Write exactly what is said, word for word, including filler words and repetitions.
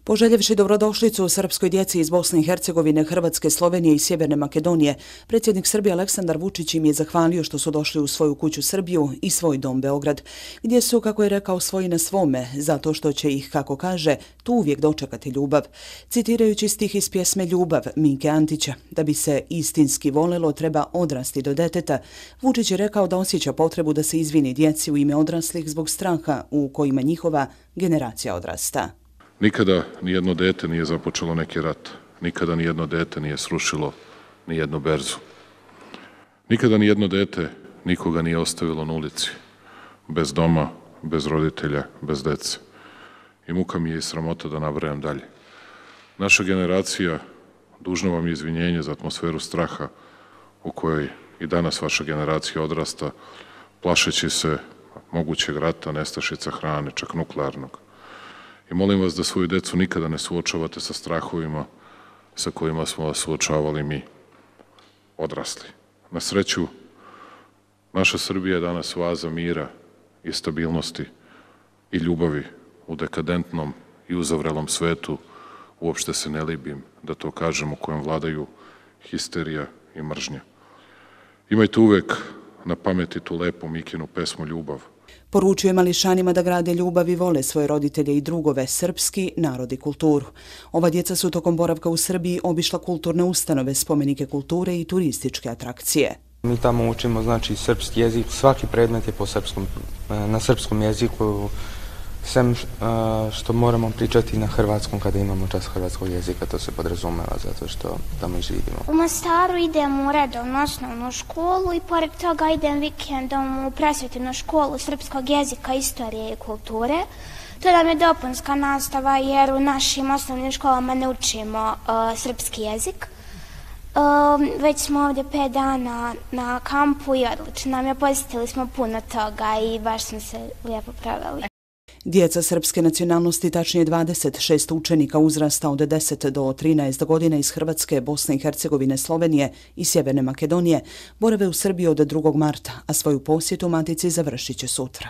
Poželjevši dobrodošlicu srpskoj djeci iz Bosne i Hercegovine, Hrvatske, Slovenije i Sjeverne Makedonije, predsjednik Srbije Aleksandar Vučić im je zahvalio što su došli u svoju kuću Srbiju i svoj dom Beograd, gdje su, kako je rekao, svoji na svome, zato što će ih, kako kaže, tu uvijek dočekati ljubav. Citirajući stih iz pjesme Ljubav Mike Antića, da bi se istinski volelo treba odrasti do deteta, Vučić je rekao da osjeća potrebu da se izvini djeci u ime odraslih zbog straha u kojima njihova generacija odrasta. Nikada nijedno dete nije započelo neki rat. Nikada nijedno dete nije srušilo nijednu berzu. Nikada nijedno dete nikoga nije ostavilo na ulici. Bez doma, bez roditelja, bez dece. I muka mi je i sramota da nabrajam dalje. Naša generacija, dužno vam je izvinjenje za atmosferu straha u kojoj i danas vaša generacija odrasta, plašeći se mogućeg rata, nestašica hrane, čak nuklearnog. I molim vas da svoju decu nikada ne suočavate sa strahovima sa kojima smo vas suočavali mi, odrasli. Na sreću, naša Srbija je danas oaza mira i stabilnosti i ljubavi u dekadentnom i uzavrelom svetu, uopšte se ne libim da to kažem, u kojem vladaju histerija i mržnja. Imajte uvek na pameti tu lepu Mikinu pesmu Ljubav. Poručuje mališanima da grade ljubav i vole svoje roditelje i drugove, srpski narod i kulturu. Ova djeca su tokom boravka u Srbiji obišla kulturne ustanove, spomenike kulture i turističke atrakcije. Mi tamo učimo znači srpski jezik, svaki predmet je po srpskom, na srpskom jeziku, sem što moramo pričati na hrvatskom kada imamo čas hrvatskog jezika, to se podrazumeva zato što tamo i živimo. U Mostaru idem u redovnu osnovnu školu i pored toga idem vikendom u prosvjetnu školu srpskog jezika, istorije i kulture. To nam je dopunska nastava jer u našim osnovnim školama ne učimo uh, srpski jezik. Uh, već smo ovdje pet dana na kampu i odlično nam je, posjetili smo puno toga i baš smo se lijepo proveli. Djeca srpske nacionalnosti, tačnije dvadeset šest učenika uzrasta od deset do trinaest godina iz Hrvatske, Bosne i Hercegovine, Slovenije i Sjeverne Makedonije, borave u Srbiji od drugog marta, a svoju posjetu matici završit će sutra.